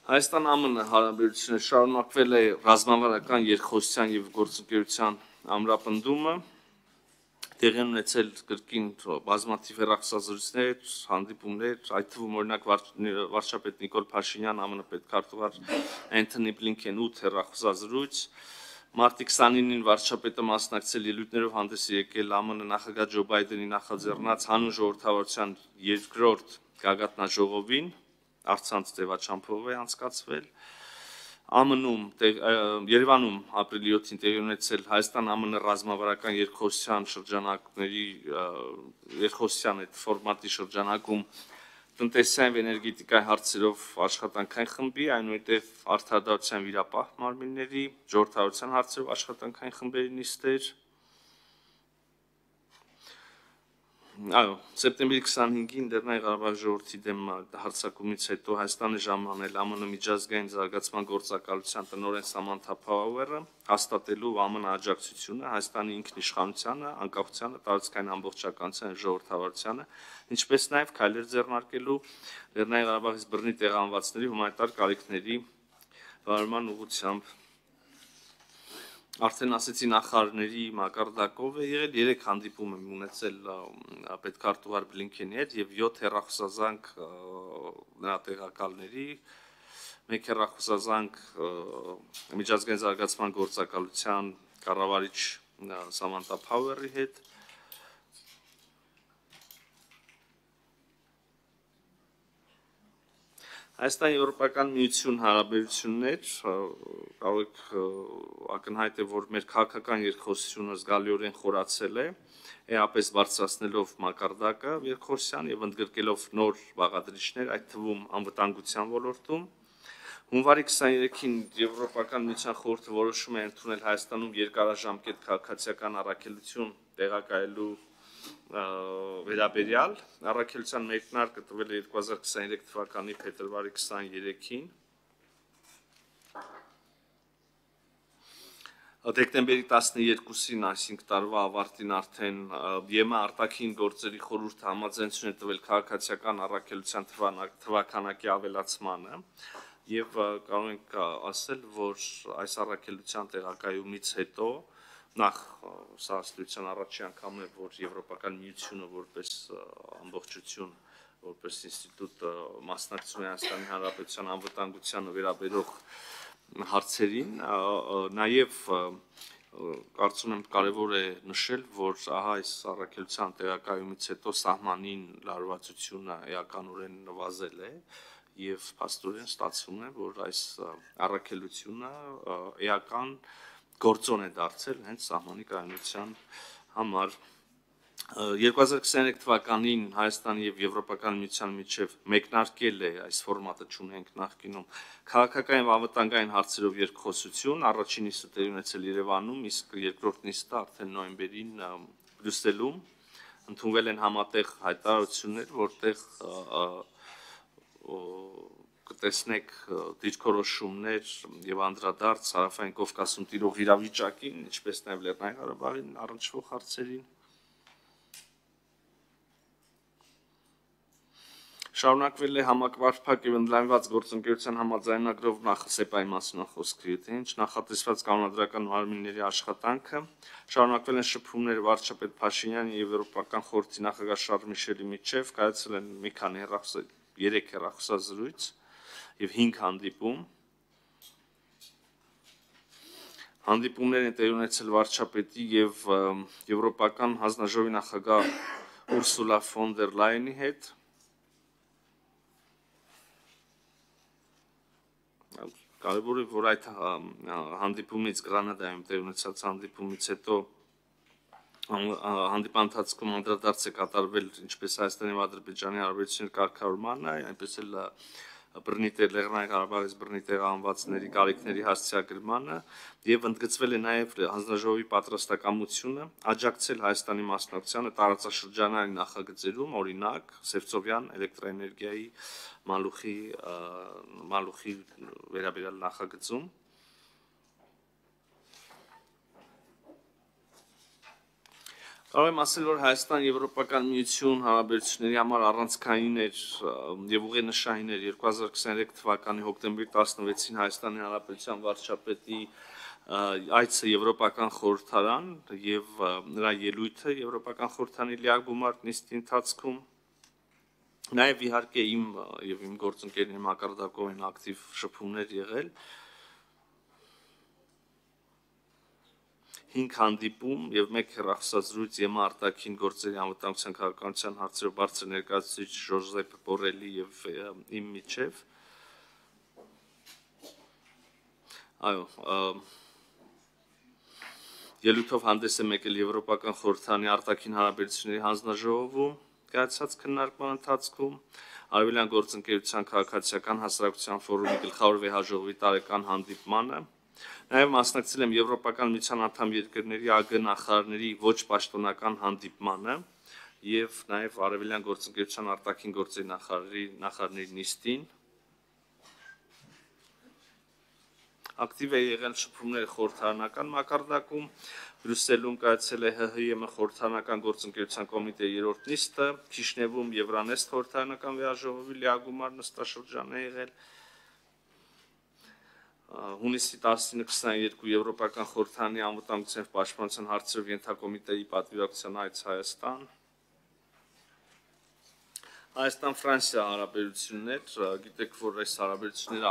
Հայաստան-ԱՄՆ հարաբերությունները շարունակվել է ռազմավարական երկխոսության և գործընկերության ամրապնդումը, տեղի ունեցել կրկին բազմաթիվ հեռախոսազրույցներ, հանդիպումներ, այդ թվում օրինակ վարչապետ Նիկոլ Փաշինյան, ԱՄՆ պետքարտուղար Էնթոնի Բլինքեն 8 հեռախոսազրույց, մարտի 29-ին վարչապետը մասնակցել ելույթներով հանդես եկել ԱՄՆ նախագահ Ջո Բայդենի նախաձեռնած հանուն ժողովրդավարության երկրորդ գագաթնաժողովին, առցանց ձևաչափով է անցկացվել, Երևանում ապրիլի 7-ին տեղի ունեցել Հայաստան-ԱՄՆ ռազմավարական երկխոսության շրջանակների երկխոսության այդ ֆորմատի շրջանակում տնտեսային և էներգետիկայի հարցերով աշխատանքային խմբի, այնուհետև արդարադատության վիրապահ մարմինների, ժողովրդավարության հարցերով աշխատանքային խմբերի նիստեր, սեպտեմբերի 25-ին Լեռնային Ղարաբաղի ժողովրդի դեմ հարձակումից հետո Հայաստանը ժամանել ԱՄՆ միջազգային զարգացման գործակալության տնօրեն Սամանթա Փաուերը, հաստատելու ԱՄՆ աջակցությունը Հայաստանի ինքնիշխանությանը, անկախությանը, տարածքային ամբողջականությանը, ժողովրդավարությանը, ինչպես նաև քայլեր ձեռնարկելու Լեռնային Ղարաբաղից բռնի տեղահանվածների հումանիտար կարիքների վարման ուղղությամբ։ Արդեն ասեցի նախարարների մակարդակով է եղել 3 հանդիպում եմ ունեցել պետքարտուղար Բլինքենի հետ և 7 հեռախոսազանգ նրա տեղակալների, 1 հեռախոսազանգ միջազգային զարգացման գործակալության կառավարիչ Սամանթա Փաուերի հետ։ Հայաստան-Եվրոպական միություն հարաբերություններ, կարող եք ակնհայտ է, որ մեր քաղաքական երկխոսությունը զգալիորեն խորացել է, էապես բարձրացնելով մակարդակը երկխոսության և ընդգրկելով նոր բաղադրիչներ, այդ թվում անվտանգության ոլորտում։ Հունվարի 23-ին Եվրոպական միության խորհուրդը որոշում է ընդունել Հայաստանում երկարաժամկետ քաղաքացիական առաքելություն տեղակայելու վերաբերյալ, առաքելության մեկնարկը տվել է 2023 թվականի փետրվարի 23-ին, դեկտեմբերի 12-ին, այսինքն տարվա ավարտին արդեն ԵՄ արտաքին գործերի խորհուրդը համաձայնություն է տվել քաղաքացիական առաքելության թվաքանակի ավելացմանը և կարող ենք ասել, որ այս առաքելության տեղակայումից հետո նախ սա ըստեյության առաջի անգամ է, որ Եվրոպական միությունը որպես ամբողջություն, որպես ինստիտուտ մասնակցում է Հայաստանի Հանրապետության անվտանգությանը վերաբերող հարցերին, նաև կարծում եմ կարևոր է նշել, որ այս առաքելության տեղակայումից հետո սահմանին լարվածությունը էականորեն նվազել է և փաստորեն ստացվում է, որ այս առաքելությունը էական գործոն է դարձել հենց սահմանի կայունության համար։ 2023 թվականին Հայաստանի և Եվրոպական միության միջև մեկնարկել է այս ֆորմատը չունենք նախկինում քաղաքական և անվտանգային հարցերով երկխոսություն, առաջին նիստը տեղի ունեցել Երևանում, իսկ երկրորդ նիստը արդեն նոյեմբերին Բրյուսելում, ընդունվել են համատեղ հայտարարություններ, որտեղ կտեսնեք դիրքորոշումներ և անդրադարձ Հարավային Կովկասում տիրող իրավիճակին, ինչպես նաև Լեռնային Ղարաբաղին առնչվող հարցերին։ Շարունակվել է համակարգ և ընդլայնված գործընկերության համաձայնագրով ՍԵՊԱ-ի մասին խոսքը, ինչ նախատեսված կանոնադրական մարմինների աշխատանքը, շարունակվել են շփումները վարչապետ Փաշինյանի և Եվրոպական խորհրդի նախագահ Շարլ Միշելի միջև, կայացել են մի քանի 3 հեռախոսազրույց և 5 հանդիպում։ Հանդիպումներ են տեղի ունեցել վարչապետի և Եվրոպական հանձնաժողովի նախագահ Ուրսուլա ֆոն դեր Լայենի հետ։ Կարևոր է, որ այդ հանդիպումից Գրանադայում տեղի ունեցած հանդիպումից հետո հանդիպան ընթացքում անդրադարձ է կատարվել ինչպես Հայաստանի և Ադրբեջանի հարաբերությունների կարգավորմանը, այնպես էլ Լեռնային Ղարաբաղից բռնի տեղահանվածների կարիքների հասցեագրմանը և ընդգծվել է նաև հանձնաժողովի պատրաստակամությունը աջակցել Հայաստանի մասնակցությանը տարածաշրջանային նախագծերում, օրինակ Սևծովյան էլեկտրաէներգիայի մալուխի վերաբերյալ նախագծում։ Կարող եմ ասել, որ Հայաստան-Եվրոպական միություն հարաբերությունների համար առանցքային էր եւ ուղենշային էր 2023 թվականի հոկտեմբերի 16-ին Հայաստանի Հանրապետության վարչապետի այցը Եվրոպական խորհրդարան եւ նրա ելույթը Եվրոպական խորհրդանի լիագումար նիստի ընթացքում նաեւ իհարկե իմ եւ իմ գործընկերների մակարդակով են ակտիվ շփումներ եղել 5 հանդիպում եւ 1 հեռախոսազրույց ԵՄ արտաքին գործերի անվտանգության քաղաքականության հարցերով բարձր ներկայացուցիչ Ժոզեփ Բորելի եւ իմ միջեւ այո ելույթով հանդես է եկել Եվրոպական խորհրդանի արտաքին հարաբերությունների հանձնաժողովում կայացած քննարկման ընթացքում Արևելյան գործընկերության քաղաքացիական հասարակության ֆորումի գլխավոր վեհաժողովի տարեկան հանդիպմանը Նաև մասնակցել եմ Եվրոպական միության անդամ երկրների ԱԳ նախարարների ոչ պաշտոնական հանդիպմանը եւ նաև Արևելյան գործընկերության արտաքին գործերի նախարարների նիստին ակտիվ է եղել շփումները խորհրդարանական մակարդակում Բրյուսելում կայացել է ՀՀ խորհրդարանական գործընկերության կոմիտեի 3-րդ նիստը Քիշնևում Եվրանեստ խորհրդարանական վեհաժողովի լիագումար նստաշրջան է եղել Հունիսի 19-22 Եվրոպական խորհրդարանի անվտանգության եւ պաշտպանության հարցերով ենթակոմիտեի պատվիրակության այց Հայաստան Հայաստան-Ֆրանսիա հարաբերություններ գիտեք որ այս հարաբերությունները